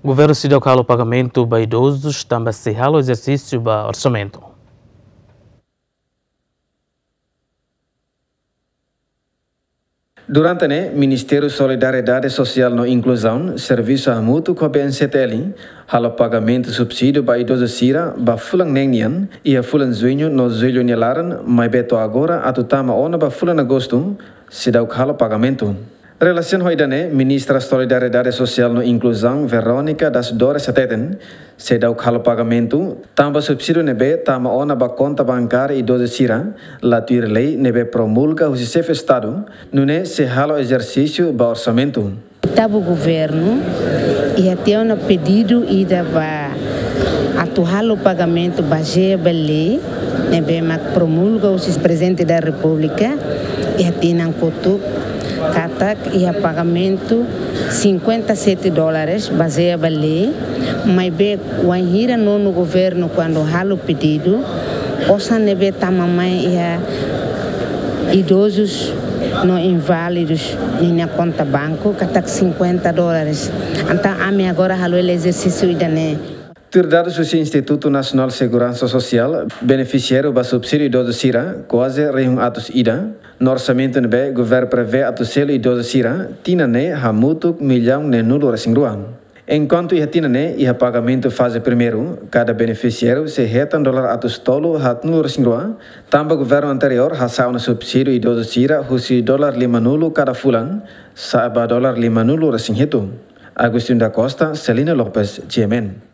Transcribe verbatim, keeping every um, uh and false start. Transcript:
Governu seidauk halo pagamentu ba idozus tanba sei halo ezersísiu ba orsamentu. Durante ne'e, Ministériu Solidariedade Sosiál no Inkluzaun servisu hamutuk ho B N C T L halo pagamentu subsídiu ba idozu sira ba fulan neen nian, iha fulan Juñu no Jullu nia laran, maibé to'o agora atu tama ona ba fulan Agostu, seidauk halo pagamentu. Relasiona ho ida-ne'e, Ministra Solidariedade Sosiál no Inkluzaun, Verónica das Dores, hateten, seidauk halo pagamentu tanba subsídiu ne'ebé tama ona ba konta bankária idozu sira la tuir lei ne'ebé promulga husi Xefe Estadu, nune'e sei halo ezersísiu ba orsamentu. Oitavu Governu iha tiha ona pedidu ida ba atu halo pagamentu bazeia ba lei ne'ebé mak promulga husi Prezidente da Repúblika iha tinan kotuk, katak iha pagamentu cinquenta e sete dólares bazeia ba lei, maibé wainhira nonu governu kuandu halo pedidu, osan ne'ebé tama mai iha idozus no inválidus ninia konta banku katak cinquenta dólares. Entaun ami agora halo hela ezersísiu ida-ne'e. Tuir dadus husi Institutu Nasionál Seguransa Sosiál, benefisiáriu ba subsídiu idozu sira kuaze rihun atus ida, no orsamentu ne'ebé governu prevee atu selu idozu sira tinan ne'e hamutuk millaun neenulu resin rua. Enkuantu iha tinan ne'e iha pagamentu faze primeiru, kada benefisiáriu sei hetan dolar atus tolu haatnulu resin rua, tanba governu anteriór hasa'e ona subsídiu idozu sira husi dolar limanulu kada fulan sa'e ba dolar limanulu resin hitu. Agostinho da Costa, Celina Lopes, G M N.